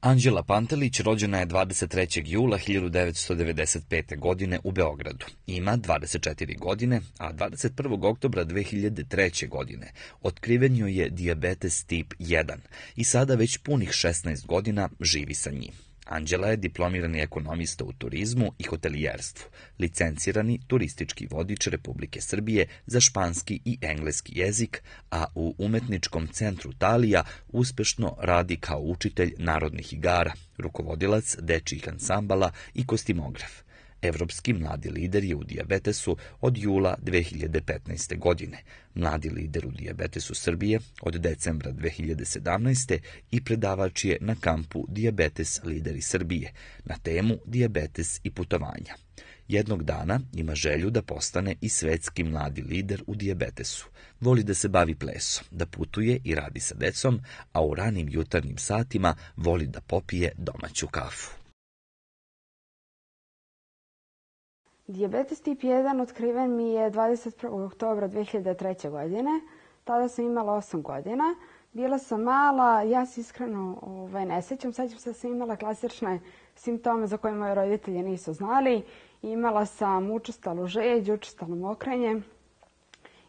Anđela Pantelić rođena je 23. jula 1995. godine u Beogradu. Ima 24 godine, a 21. oktobra 2003. godine otkriven joj je dijabetes tip 1 i sada već punih 16 godina živi sa njim. Anđela je diplomirani ekonomista u turizmu i hotelijerstvu, licencirani turistički vodič Republike Srbije za španski i engleski jezik, a u Umetničkom centru Talija uspešno radi kao učitelj narodnih igara, rukovodilac dečijih ansambala i kostimograf. Evropski mladi lider je u dijabetesu od jula 2015. godine, mladi lider u dijabetesu Srbije od decembra 2017. i predavač je na kampu Dijabetes lideri Srbije na temu dijabetes i putovanja. Jednog dana ima želju da postane i svetski mladi lider u dijabetesu. Voli da se bavi plesom, da putuje i radi sa decom, a u ranim jutarnjim satima voli da popije domaću kafu. Dijabetes tip 1 otkriven mi je 21. oktobra 2003. godine. Tada sam imala 8 godina. Bila sam mala, ja se iskreno ne sećam. Sećam se da sam imala klasične simptome za koje moji roditelji nisu znali. Imala sam učestalu žeđ, učestalo mokrenje.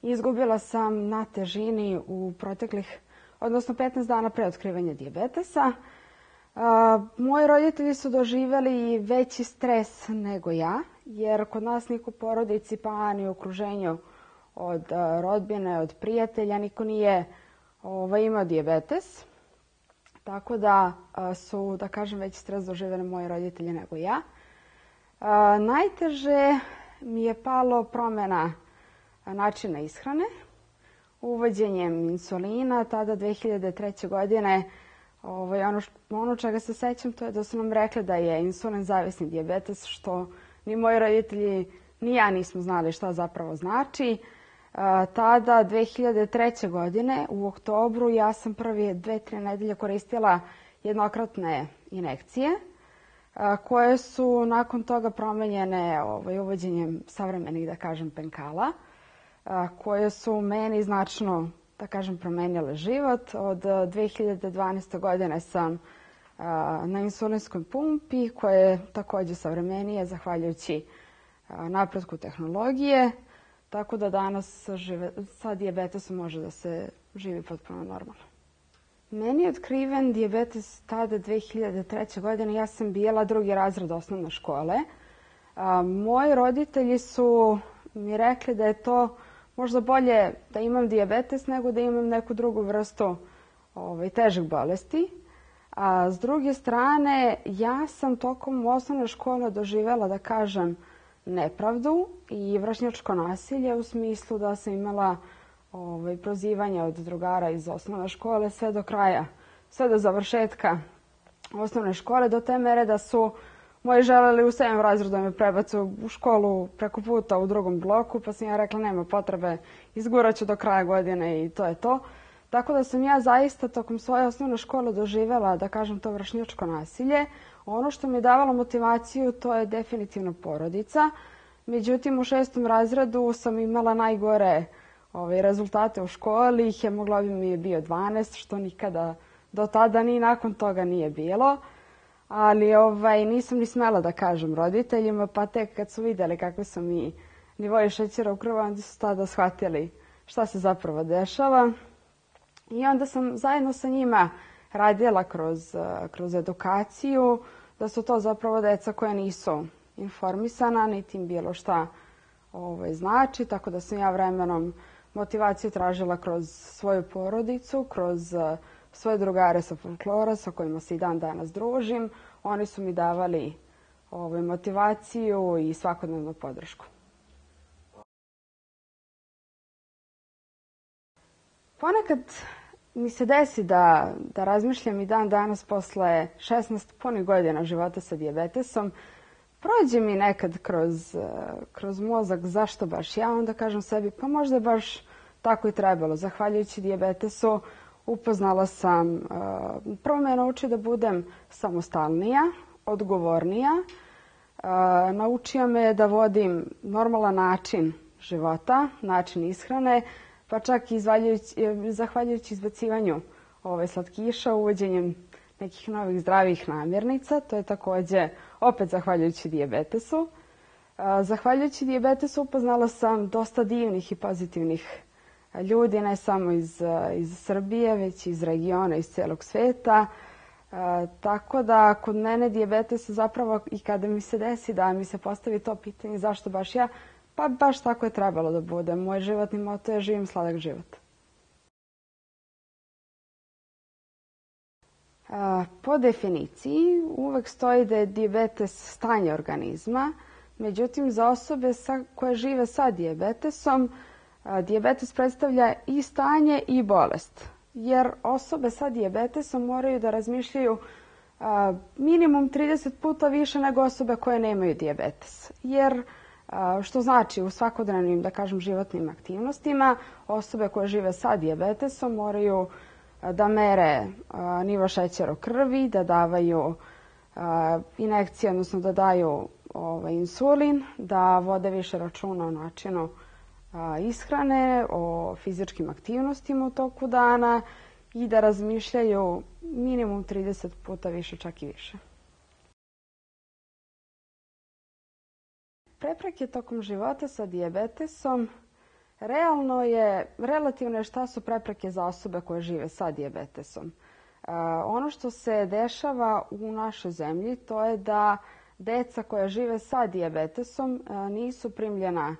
Izgubila sam na težini u proteklih, odnosno 15 dana pre otkrivanja dijabetesa. Moji roditelji su doživjeli veći stres nego ja, jer kod nas niko u porodici pa ni u okruženju od rodbine, od prijatelja, niko nije imao dijabetes. Tako da su, da kažem, veći stres doživjeli moji roditelji nego ja. Najteže mi je palo promjena načina ishrane, uvođenjem insulina, tada 2003. godine. Ono čega se sećam to je da su nam rekli da je insulin zavisni dijabetes, što ni moji roditelji ni ja nismo znali šta zapravo znači. Tada, 2003. godine, u oktobru, ja sam prvi 2-3 nedelje koristila jednokratne injekcije, koje su nakon toga promenjene uvođenjem savremenih, da kažem, penkala, koje su meni značno, da kažem, promenile život. Od 2012. godine sam na insulinskoj pumpi, koja je također savremenije, zahvaljujući napretku tehnologije. Tako da danas sa dijabetesom može da se živi potpuno normalno. Meni je otkriven dijabetes tada 2003. godine. Ja sam bila 2. razred osnovne škole. Moji roditelji su mi rekli da je to možda bolje da imam dijabetes nego da imam neku drugu vrstu težih bolesti. A s druge strane, ja sam tokom osnovne škole doživjela, da kažem, nepravdu i vršnjačko nasilje u smislu da sam imala prozivanje od drugara iz osnovne škole sve do kraja, sve do završetka osnovne škole, do te mere da su moji želeli u 7. razredu da me prebacu u školu preko puta u drugom bloku, pa sam ja rekla nema potrebe, izgurat ću do kraja godine i to je to. Tako da sam ja zaista tokom svoje osnovne škole doživjela, da kažem, to vršnjačko nasilje. Ono što mi je davalo motivaciju to je definitivno porodica. Međutim, u 6. razredu sam imala najgore rezultate u školi. Hemoglobin mi je bio 12, što nikada do tada ni nakon toga nije bilo. Ali nisam ni smela da kažem roditeljima, pa tek kad su vidjeli kakve su mi nivoji šećera u krvi, onda su tada shvatili šta se zapravo dešava. I onda sam zajedno sa njima radila kroz edukaciju, da su to zapravo deca koja nisu informisana, niti im bilo šta znači, tako da sam ja vremenom motivaciju tražila kroz svoju porodicu, kroz svoje drugare sa folklora sa kojima se i dan danas družim. Oni su mi davali motivaciju i svakodnevnu podršku. Ponekad mi se desi da razmišljam i dan danas posle 16 punih godina života sa dijabetesom. Prođe mi nekad kroz mozak zašto baš ja, onda kažem sebi pa možda je baš tako i trebalo. Zahvaljujući dijabetesu upoznala sam, prvo me naučio da budem samostalnija, odgovornija. Naučio me da vodim normalan način života, način ishrane, pa čak i zahvaljujući izbacivanju slatkiša, uvođenjem nekih novih zdravih namirnica. To je takođe opet zahvaljujući dijabetesu. Zahvaljujući dijabetesu upoznala sam dosta divnih i pozitivnih ljudi, ne samo iz Srbije, već iz regiona, iz celog sveta. Tako da kod mene dijabetes zapravo i kada mi se desi da mi se postavi to pitanje zašto baš ja, pa baš tako je trebalo da bude. Moj životni moto je živim sladak život. Po definiciji uvek stoji da je dijabetes stanje organizma, međutim za osobe koje žive sa dijabetesom, dijabetes predstavlja i stanje i bolest. Jer osobe sa dijabetesom moraju da razmišljaju minimum 30 puta više nego osobe koje nemaju dijabetes. Jer, što znači u svakodnevnim, da kažem, životnim aktivnostima, osobe koje žive sa dijabetesom moraju da mere nivo šećera u krvi, da davaju injekcije, odnosno da daju insulin, da vode više računa o načinu ishrane, o fizičkim aktivnostima u toku dana i da razmišljaju minimum 30 puta više, čak i više. Prepreke tokom života sa dijabetesom relativno je šta su prepreke za osobe koje žive sa dijabetesom. Ono što se dešava u našoj zemlji to je da deca koja žive sa dijabetesom nisu primljena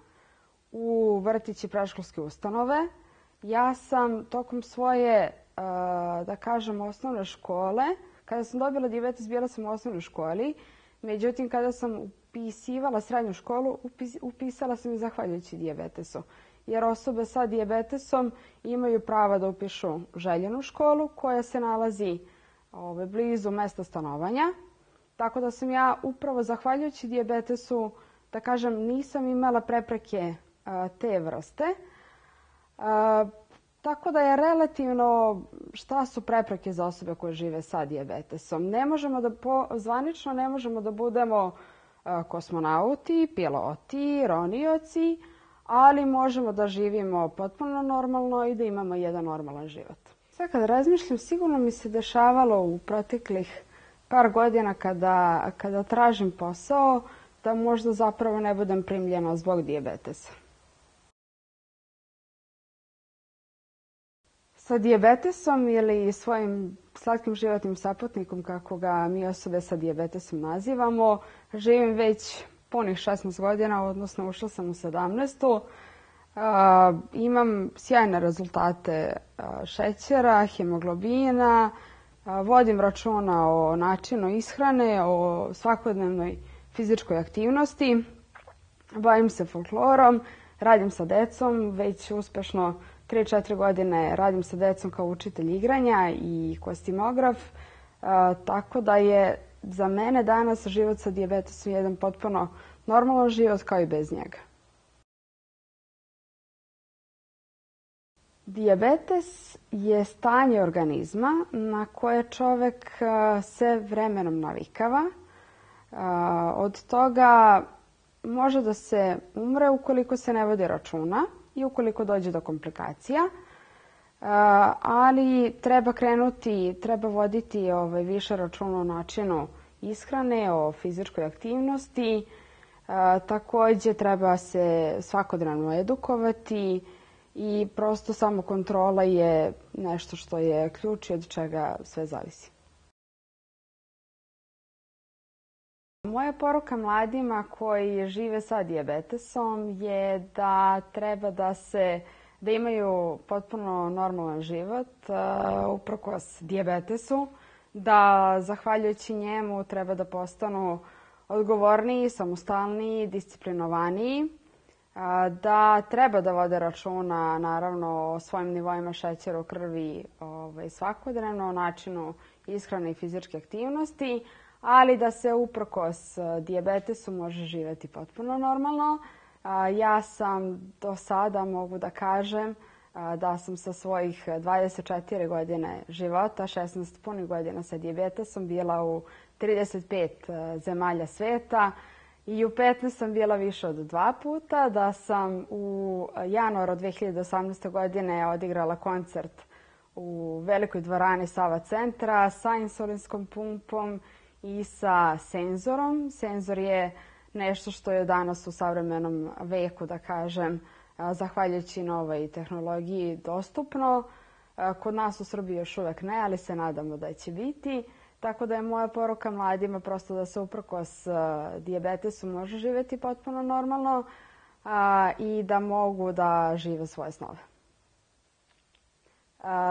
u vrtić i predškolske ustanove. Ja sam tokom svoje, da kažem, osnovne škole, kada sam dobila dijabetes, bila sam u osnovnoj školi, međutim kada sam upisivala srednju školu, upisala sam i zahvaljujući dijabetesu. Jer osobe sa dijabetesom imaju prava da upišu željenu školu koja se nalazi blizu mesta stanovanja. Tako da sam ja upravo zahvaljujući dijabetesu, da kažem, nisam imala prepreke te vrste. Tako da je relativno šta su prepreke za osobe koje žive sa dijabetesom. Zvanično ne možemo da budemo kosmonauti, piloti, ronioci, ali možemo da živimo potpuno normalno i da imamo jedan normalan život. Sad kad razmišljam, sigurno mi se dešavalo u proteklih par godina kada tražim posao da možda zapravo ne budem primljena zbog dijabetesa. Sa dijabetesom ili svojim slatkim životnim saputnikom, kako ga mi osobe sa dijabetesom nazivamo, živim već punih 16 godina, odnosno ušla sam u 17. Imam sjajne rezultate šećera, hemoglobina, vodim računa o načinu ishrane, o svakodnevnoj fizičkoj aktivnosti, bavim se folklorom, radim sa decom, već uspešno 3-4 godine radim sa decom kao učitelj igranja i kostimograf, tako da je za mene danas život sa dijabetesom jedan potpuno normalan život kao i bez njega. Dijabetes je stanje organizma na koje čovek se vremenom navikava. Od toga može da se umre ukoliko se ne vodi računa i ukoliko dođe do komplikacija, ali treba voditi više računa o načinu ishrane, o fizičkoj aktivnosti. Takođe treba se svakodnevno edukovati i prosto samo kontrola je nešto što je ključ i od čega sve zavisi. Moja poruka mladima koji žive sa dijabetesom je da treba da imaju potpuno normalan život uprkos dijabetesu, da zahvaljujući njemu treba da postanu odgovorniji, samostalniji, disciplinovaniji, da treba da vode računa naravno o svojim nivoima šećera u krvi svakodnevno, o načinu ishrane i fizičke aktivnosti, ali da se uprkos dijabetesu može živeti potpuno normalno. Ja sam do sada, mogu da kažem, da sam sa svojih 24 godine života, 16 punih godina sa dijabetesom, bila u 35 zemalja sveta i u 15 sam bila više od 2 puta, da sam u januaru 2018. godine odigrala koncert u velikoj dvorani Sava centra sa insulinskom pumpom i sa senzorom. Senzor je nešto što je danas u savremenom veku, da kažem, zahvaljujući novoj tehnologiji dostupno. Kod nas u Srbiji još uvek ne, ali se nadamo da će biti. Tako da je moja poruka mladima prosto da se uprkos dijabetesu može živjeti potpuno normalno i da mogu da žive svoje snove.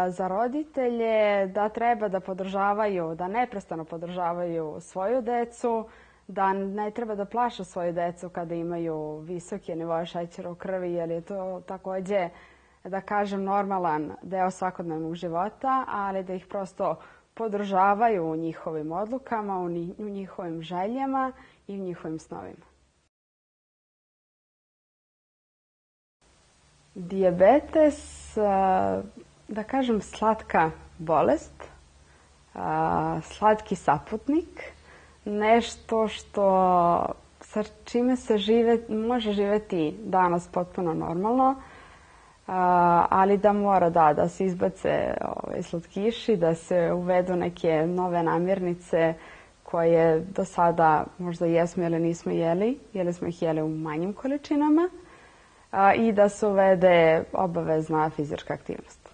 Za roditelje da treba da podržavaju, da neprestano podržavaju svoju decu, da ne treba da plaše svoju decu kada imaju visoke nivoe šećera u krvi, jer je to takođe, da kažem, normalan deo svakodnevnog života, ali da ih prosto podržavaju u njihovim odlukama, u njihovim željama i u njihovim snovima. Dijabetes, da kažem, slatka bolest, slatki saputnik, nešto sa čime se može živeti danas potpuno normalno, ali da mora da se izbace slatkiši, da se uvedu neke nove namirnice koje do sada možda jesmo ili nismo jeli, ili smo ih jeli u manjim količinama, i da se uvede obavezna fizička aktivnost.